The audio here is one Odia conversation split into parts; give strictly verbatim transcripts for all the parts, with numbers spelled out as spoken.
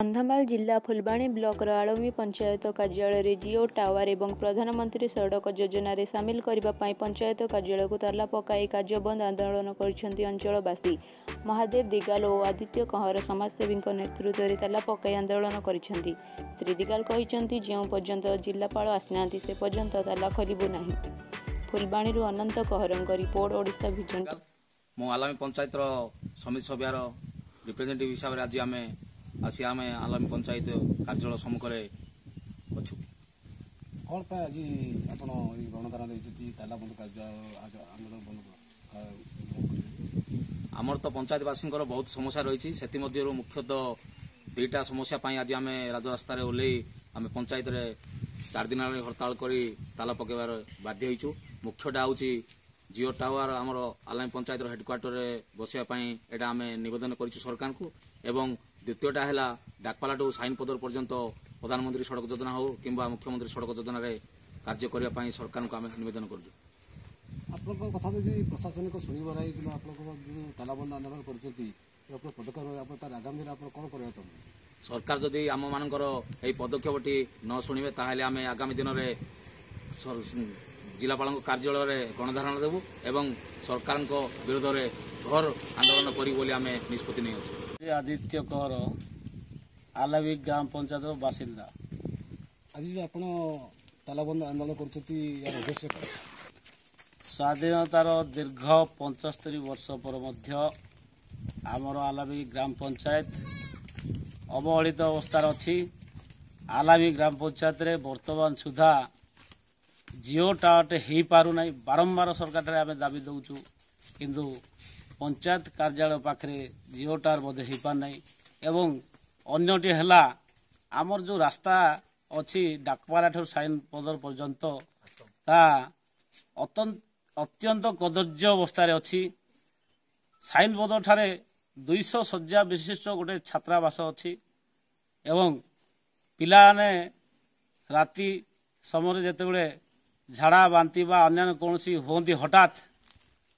କନ୍ଧମାଳ ଜିଲ୍ଲା ଫୁଲବାଣୀ ବ୍ଲକର ଆଳମୀ ପଞ୍ଚାୟତ କାର୍ଯ୍ୟାଳୟରେ ଜିଓ ଟାୱାର ଏବଂ ପ୍ରଧାନମନ୍ତ୍ରୀ ସଡ଼କ ଯୋଜନାରେ ସାମିଲ କରିବା ପାଇଁ ପଞ୍ଚାୟତ କାର୍ଯ୍ୟାଳୟକୁ ତାଲା ପକାଇ କାର୍ଯ୍ୟବନ୍ଦ ଆନ୍ଦୋଳନ କରିଛନ୍ତି ଅଞ୍ଚଳବାସୀ। ମହାଦେବ ଦିଗାଲ ଓ ଆଦିତ୍ୟ କହଁର ସମାଜସେବୀଙ୍କ ନେତୃତ୍ୱରେ ତାଲା ପକାଇ ଆନ୍ଦୋଳନ କରିଛନ୍ତି। ଶ୍ରୀ ଦିଗାଲ କହିଛନ୍ତି, ଯେଉଁ ପର୍ଯ୍ୟନ୍ତ ଜିଲ୍ଲାପାଳ ଆସିନାହାନ୍ତି ସେ ପର୍ଯ୍ୟନ୍ତ ତାଲା ଖୋଲିବୁ ନାହିଁ। ଫୁଲବାଣୀରୁ ଅନନ୍ତ କହଁରଙ୍କ ରିପୋର୍ଟ, ଓଡ଼ିଶା ଭିଜନ। ମୁଁ ଆଲାମୀ ପଞ୍ଚାୟତର ସମିତି ସଭ୍ୟର ରିପ୍ରେଜେଣ୍ଟେଟିଭ୍ ହିସାବରେ ଆଜି ଆମେ ଆସି ଆମେ ଆଲାମୀ ପଞ୍ଚାୟତ କାର୍ଯ୍ୟାଳୟ ସମ୍ମୁଖରେ ଅଛୁ। କ'ଣ ପାଇଁ ଆଜି ଆପଣ ଏଇ ଗଣଧାରଣା ଦେଇଛନ୍ତି, ତାଲା ବନ୍ଦ କାର୍ଯ୍ୟ ଆନ୍ଦୋଳନ ବନ୍ଦ କରିବେ? ଆମର ତ ପଞ୍ଚାୟତବାସୀଙ୍କର ବହୁତ ସମସ୍ୟା ରହିଛି। ସେଥିମଧ୍ୟରୁ ମୁଖ୍ୟତଃ ଦୁଇଟା ସମସ୍ୟା ପାଇଁ ଆଜି ଆମେ ରାଜରାସ୍ତାରେ ଓହ୍ଲେଇ ଆମେ ପଞ୍ଚାୟତରେ ଚାରି ଦିନ ହେଲାଣି ହରତାଳ କରି ତାଲା ପକାଇବାର ବାଧ୍ୟ ହେଇଛୁ। ମୁଖ୍ୟଟା ହେଉଛି ଜିଓ ଟାୱାର ଆମର ଆଲାମୀ ପଞ୍ଚାୟତର ହେଡ଼କ୍ୱାର୍ଟରରେ ବସିବା ପାଇଁ ଏଇଟା ଆମେ ନିବେଦନ କରିଛୁ ସରକାରଙ୍କୁ, ଏବଂ ଦ୍ୱିତୀୟଟା ହେଲା ଡାକପାଲାଠୁ ସାଇନପଦର ପର୍ଯ୍ୟନ୍ତ ପ୍ରଧାନମନ୍ତ୍ରୀ ସଡ଼କ ଯୋଜନା ହେଉ କିମ୍ବା ମୁଖ୍ୟମନ୍ତ୍ରୀ ସଡ଼କ ଯୋଜନାରେ କାର୍ଯ୍ୟ କରିବା ପାଇଁ ସରକାରଙ୍କୁ ଆମେ ନିବେଦନ କରୁଛୁ। ଆପଣଙ୍କ କଥା ଯଦି ପ୍ରଶାସନିକ ଶୁଣିବ ନାହିଁ କିମ୍ବା ଆପଣଙ୍କ ଯେଉଁ ତାଲାବନ୍ଦ ଆନ୍ଦୋଳନ କରୁଛନ୍ତି, ଆପଣ ପଦକ୍ଷେପ, ଆପଣ ତାର ଆଗାମୀ ଦିନରେ ଆପଣ କ'ଣ କରିବାକୁ ଚାହୁଁଛନ୍ତି? ସରକାର ଯଦି ଆମମାନଙ୍କର ଏହି ପଦକ୍ଷେପଟି ନ ଶୁଣିବେ, ତାହେଲେ ଆମେ ଆଗାମୀ ଦିନରେ ଜିଲ୍ଲାପାଳଙ୍କ କାର୍ଯ୍ୟାଳୟରେ ଗଣଧାରଣା ଦେବୁ ଏବଂ ସରକାରଙ୍କ ବିରୋଧରେ ଘୋର ଆନ୍ଦୋଳନ କରିବୁ ବୋଲି ଆମେ ନିଷ୍ପତ୍ତି ନେଇଅଛୁ। ଆଦିତ୍ୟ କହର, ଆଲାବି ଗ୍ରାମ ପଞ୍ଚାୟତର ବାସିନ୍ଦା। ଆଜି ଯେଉଁ ଆପଣ ତାଲାବନ୍ଦ ଆନ୍ଦୋଳନ କରୁଛନ୍ତି, ଏହାର ଉଦ୍ଦେଶ୍ୟ କ'ଣ? ସ୍ୱାଧୀନତାର ଦୀର୍ଘ ପଞ୍ଚସ୍ତରୀ ବର୍ଷ ପରେ ମଧ୍ୟ ଆମର ଆଲାବି ଗ୍ରାମ ପଞ୍ଚାୟତ ଅବହେଳିତ ଅବସ୍ଥାରେ ଅଛି। ଆଲାମୀ ଗ୍ରାମ ପଞ୍ଚାୟତରେ ବର୍ତ୍ତମାନ ସୁଦ୍ଧା ଜିଓ ଟାୱାରଟେ ହେଇପାରୁନାହିଁ। ବାରମ୍ବାର ସରକାରଠାରେ ଆମେ ଦାବି ଦେଉଛୁ, କିନ୍ତୁ ପଞ୍ଚାୟତ କାର୍ଯ୍ୟାଳୟ ପାଖରେ ଜିଓ ଟାୱାର ମଧ୍ୟ ହେଇପାରୁନାହିଁ। ଏବଂ ଅନ୍ୟଟି ହେଲା ଆମର ଯେଉଁ ରାସ୍ତା ଅଛି ଡାକପାରାଠାରୁ ସାଇନ ପଦର ପର୍ଯ୍ୟନ୍ତ, ତା ଅତ୍ୟନ୍ତ କଦର୍ଯ୍ୟ ଅବସ୍ଥାରେ ଅଛି। ସାଇନ ପଦରଠାରେ ଦୁଇଶହ ଶଯ୍ୟା ବିଶିଷ୍ଟ ଗୋଟେ ଛାତ୍ରାବାସ ଅଛି ଏବଂ ପିଲାମାନେ ରାତି ସମୟରେ ଯେତେବେଳେ ଝାଡ଼ା ବାନ୍ତି ବା ଅନ୍ୟାନ୍ୟ କୌଣସି ହୁଅନ୍ତି, ହଠାତ୍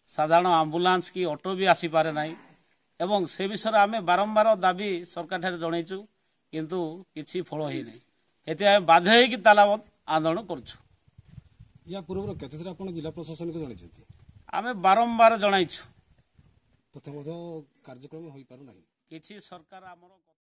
ସାଧାରଣ ଆମ୍ବୁଲାନ୍ସ କି ଅଟୋ ବି ଆସିପାରେ ନାହିଁ। ଏବଂ ସେ ବିଷୟରେ ଆମେ ବାରମ୍ବାର ଦାବି ସରକାରଠାରେ ଜଣାଇଛୁ, କିନ୍ତୁ କିଛି ଫଳ ହେଇନାହିଁ। ଏଥିପାଇଁ ଆମେ ବାଧ୍ୟ ହେଇକି ତାଲାବନ୍ଦ ଆନ୍ଦୋଳନ କରୁଛୁ। ୟା ପୂର୍ବରୁ କେତେଥର ଆପଣ ଜିଲ୍ଲା ପ୍ରଶାସନକୁ ଜଣାଇଛନ୍ତି? ଆମେ ବାରମ୍ବାର ଜଣାଇଛୁ, ତଥା ମଧ୍ୟ କାର୍ଯ୍ୟକ୍ରମ ହୋଇପାରୁନାହିଁ। କିଛି ସରକାର ଆମର